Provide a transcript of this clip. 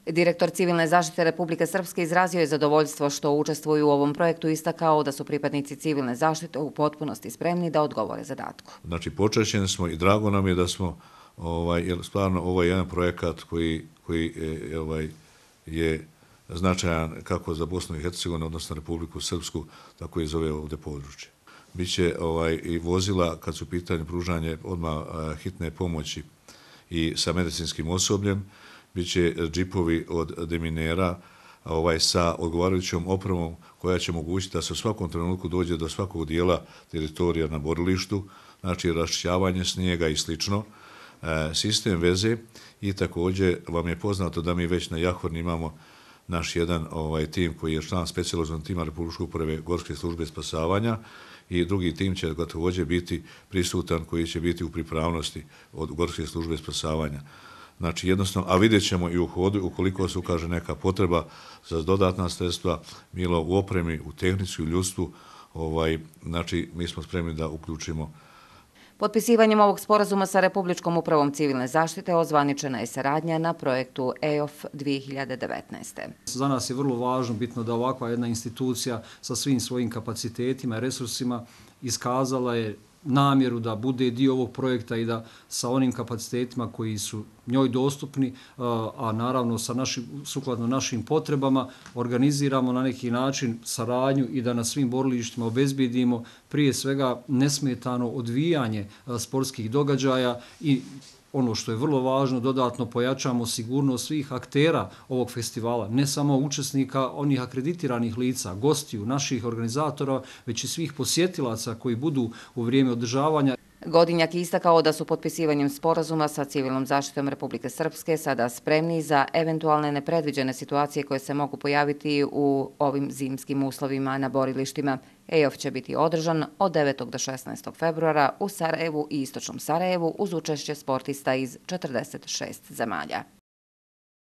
Direktor Civilne zaštite Republike Srpske izrazio je zadovoljstvo što učestvuju u ovom projektu i istakao da su pripadnici civilne zaštite u potpunosti spremni da odgovore zadatku. Znači, počašćeni smo i drago nam je da smo, jer stvarno ovo je jedan projekat koji je značajan kako za Bosnu i Hercegovinu, odnosno Republiku Srpsku, tako i za ove ovdje područje. Biće i vozila kad su u pitanju pružanje odmah hitne pomoći i sa medicinskim osobljem, biće džipovi od deminera sa odgovarajućom opremom koja će omogućiti da se u svakom trenutku dođe do svakog dijela teritorija na borilištu, znači raščišćavanje snijega i slično, sistem veze i također vam je poznato da mi već na Jahvorni imamo naš jedan tim koji je član specijalizovanog tima Republičke uprave Gorske službe spasavanja i drugi tim će također biti prisutan koji će biti u pripravnosti od Gorske službe spasavanja. Znači jednostavno, a vidjet ćemo i u hodu ukoliko se ukaže neka potreba za dodatna sredstva, bilo u opremi, u tehnici, u ljudstvu, znači mi smo spremni da uključimo. Potpisivanjem ovog sporazuma sa Republičkom upravom civilne zaštite ozvaničena je saradnja na projektu EOF 2019. Za nas je vrlo važno, bitno da ovakva jedna institucija sa svim svojim kapacitetima i resursima iskazala je namjeru da bude dio ovog projekta i da sa onim kapacitetima koji su njoj dostupni, a naravno sukladno našim potrebama, organiziramo na neki način saradnju i da na svim borilištima obezbijedimo prije svega nesmetano odvijanje sportskih događaja i ono što je vrlo važno, dodatno pojačamo sigurnost svih aktera ovog festivala, ne samo učesnika, onih akreditiranih lica, gostiju, naših organizatora, već i svih posjetilaca koji budu u vrijeme održavanja. Godinjak je istakao da su potpisivanjem sporazuma sa civilnom zaštitom Republike Srpske sada spremni za eventualne nepredviđene situacije koje se mogu pojaviti u ovim zimskim uslovima na borilištima. EOF će biti održan od 9. do 16. februara u Sarajevu i Istočnom Sarajevu uz učešće sportista iz 46 zemalja.